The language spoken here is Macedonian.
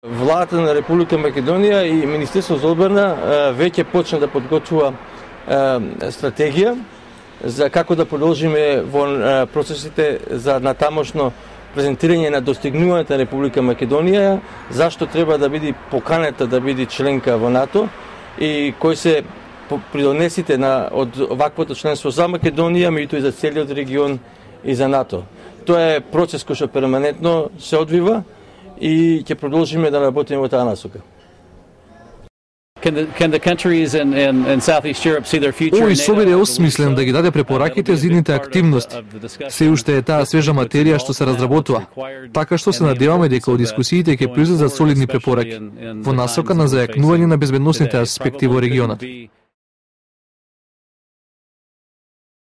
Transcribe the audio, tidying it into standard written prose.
Владата на Република Македонија и Министерството за одбрана веќе почна да подготвува стратегија за како да продолжиме во процесите за натамошно презентирање на достигнувањата на Република Македонија, зашто треба да биде поканета да биде членка во НАТО и кои се придонесите од ваквото членство за Македонија, меѓутоа и за целиот регион и за НАТО. Тоа е процес кој што перманентно се одвива и ќе продолжиме да работиме во таа насока. Овој собир е осмислен да ги даде препораките за идните активности. Се уште е таа свежа материја што се разработува, така што се надеваме дека од дискусиите ќе произлезат солидни препораки во насока на зајакнување на безбедносните аспекти во регионот.